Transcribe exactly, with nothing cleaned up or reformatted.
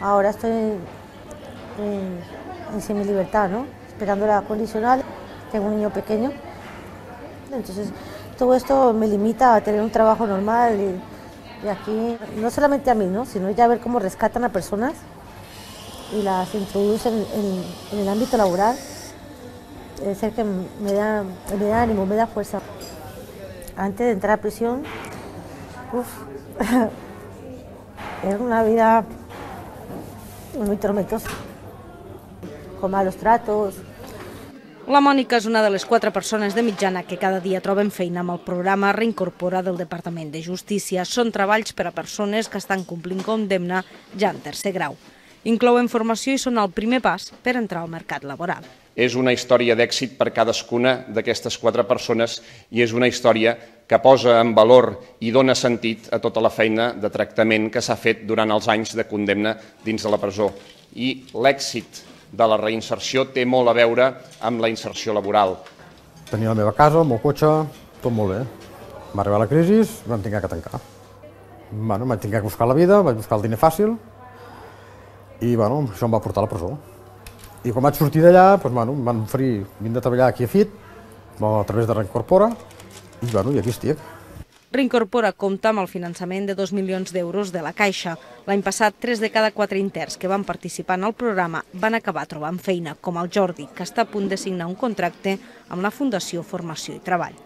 Ahora estoy en, en semilibertad, ¿no? Esperando la condicional, tengo un niño pequeño, entonces todo esto me limita a tener un trabajo normal y, y aquí, no solamente a mí, ¿no? Sino ya ver cómo rescatan a personas y las introducen en, en el ámbito laboral, es el que me da, me da ánimo, me da fuerza. Antes de entrar a prisión, uf, era una vida muy tormentosa, con malos tratos. La Mònica és una de les quatre persones de mitjana que cada dia troben feina amb el programa Reincorpora del Departament de Justícia. Són treballs per a persones que estan complint condemna ja en tercer grau. Inclouen formació i són el primer pas per entrar al mercat laboral. És una història d'èxit per cadascuna d'aquestes quatre persones i és una història que posa en valor i dona sentit a tota la feina de tractament que s'ha fet durant els anys de condemna dins de la presó. I l'èxit de la reinserció té molt a veure amb la inserció laboral. Tenia la meva casa, el meu cotxe, tot molt bé. Va arribar la crisi, vam haver que tancar. Bueno, vaig haver que buscar la vida, vaig buscar el diner fàcil i bueno, això em va portar a la presó. I quan vaig sortir d'allà, doncs, bueno, em van oferir vindre a treballar aquí a F I T, a través de Reincorpora, i, bueno, i aquí estic. Reincorpora compta amb el finançament de dos milions d'euros de la Caixa. L'any passat, tres de cada quatre interns que van participar en el programa van acabar trobant feina, com el Jordi, que està a punt de signar un contracte amb la Fundació Formació i Treball.